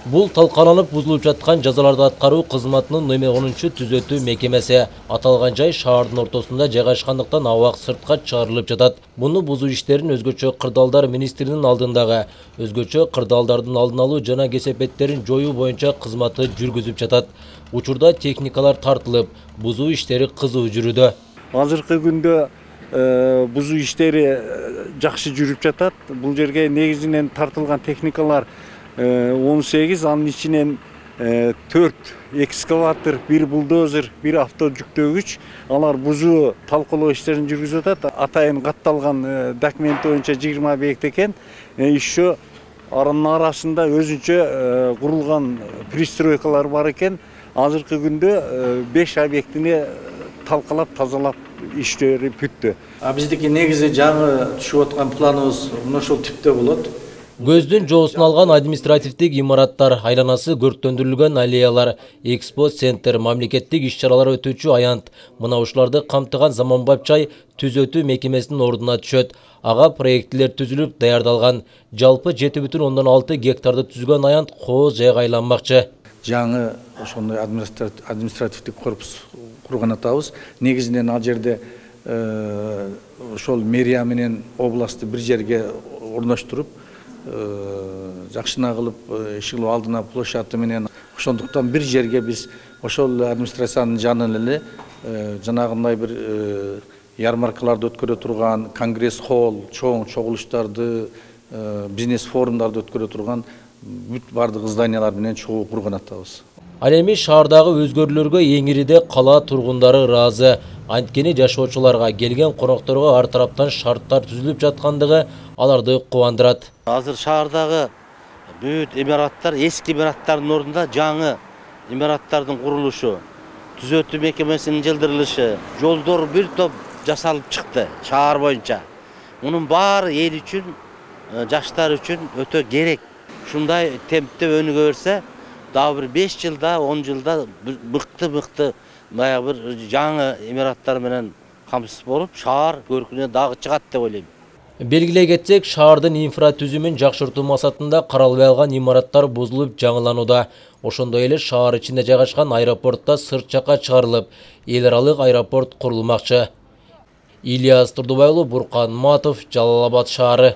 Бул талкаланып бузулуп жаткан жазаларды аткаруу кызматынын номер 10 түзөтүү мекемеси. Аталган жай шаардын ортосунда жайгашкандыктан абак сыртка чыгарылып жатат. Муну бузуу иштерин өзгөчө кырдаалдар министринин алдындагы өзгөчө кырдаалдардын алдын алуу жана кесепеттерин жоюу боюнча кызматы жүргүзүп жатат. Учурда техникалар тартылып, бузуу иштери кызуу жүрүүдө. Азыркы күндө бузуу иштери жакшы жүрүп жатат. Бул жерге негизинен тартылган техникалар 18, анын ичинен 4 экскаватор, 1 бульдозер, 1 авто жүктөгүч. Алар бузуу талкалоо иштерин жүргүзүп атат. Атайын катталган документ боюнча 20 объект экен. Еще анын арасында өзүнчө курулган пристройкалар бар экен. Азыркы күндө 5 объектини талкалап, тазалап иштери бүттү. Биздики негизи жаңы түшүп аткан планыбыз мына ушул типте болот. Көздүн жоосун алган административдик имараттар, айланасы көрктөндүрүлгөн аллеялар, экспо центр, мамлекеттик иш-чаралар өтүүчү аянт, мына ушуларды камтыган заманбап жай түзөтүү мекемесинин ордуна түшөт. Ага проектилер түзүлүп даярдалган. Жалпы 7,6 гектарды түзгөн аянт кооз жайга айланмакчы. Жаңы ошондой административдик корпус курган атабыз. Негизинен ал жерде ошол мэрия менен областты бир жерге орноштуруп, жакшына кылып иши алдына площадь менен, ошондуктан бир жерге биз ошол администрациянын жанынан эле жанагындай бир ярмаркаларды өткөрө турган, конгресс холл, чоң чогулуштарды, бизнес форумдарды өткөрө турган бүт бардык зданиялар менен чогуу курган атабыз. Ал эми шаардагы өзгөрүүлөргө эң ириде кала тургундары ыраазы. Анткени жашоочуларга, келген конокторго ар тараптан шарттар түзүлүп жаткандыгы аларды кубандырат. Азыр шаардагы бүт имараттар эски имараттардын ордунда жаңы имараттардын курулушу, түзөтүү мекемесинин жылдырылышы, жолдор бир топ жасалып чыкты шаар боюнча. Мунун баары эл үчүн, жаштар үчүн өтө керек. Ушундай темпте өнүгө берсе, дагы бир 5 жылда, 10 жылда мыкты баягы бир жаңы имараттар менен камсыз болуп, шаар көркүнө дагы чыгат деп ойлойм. Белгилей кетсек, шаардын инфратүзүмүн жакшыртуу максатында каралбай калган имараттар бузулуп жаңыланууда. Ошондой эле шаар ичинде жайгашкан аэропортто сырт жакка чыгарылып, эл аралык аэропорт курулмакчы. Ильяс Турдубайлуу, Буркан Матов, Жалал Абад шаары.